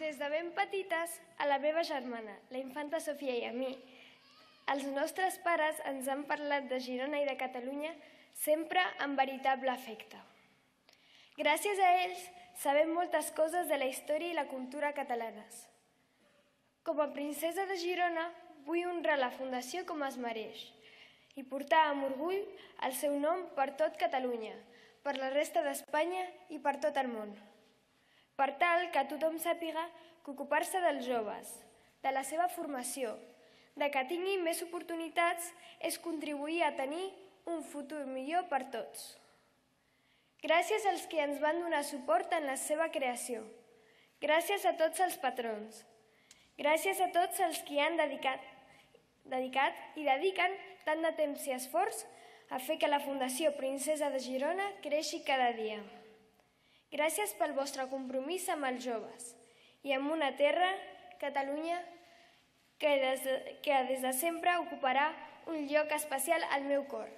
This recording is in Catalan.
Des de ben petites, a la meva germana, la infanta Sofia i a mi, els nostres pares ens han parlat de Girona i de Catalunya sempre amb veritable afecte. Gràcies a ells sabem moltes coses de la història i la cultura catalanes. Com a princesa de Girona vull honrar la Fundació com es mereix i portar amb orgull el seu nom per tot Catalunya, per la resta d'Espanya i per tot el món. Per tal que tothom sàpiga que ocupar-se dels joves, de la seva formació, de que tinguin més oportunitats és contribuir a tenir un futur millor per tots. Gràcies als que ens van donar suport en la seva creació. Gràcies a tots els patrons. Gràcies a tots els que han dedicat i dediquen tant de temps i esforç a fer que la Fundació Princesa de Girona creixi cada dia. Gràcies pel vostre compromís amb els joves i amb una terra, Catalunya, que des de sempre ocuparà un lloc especial al meu cor.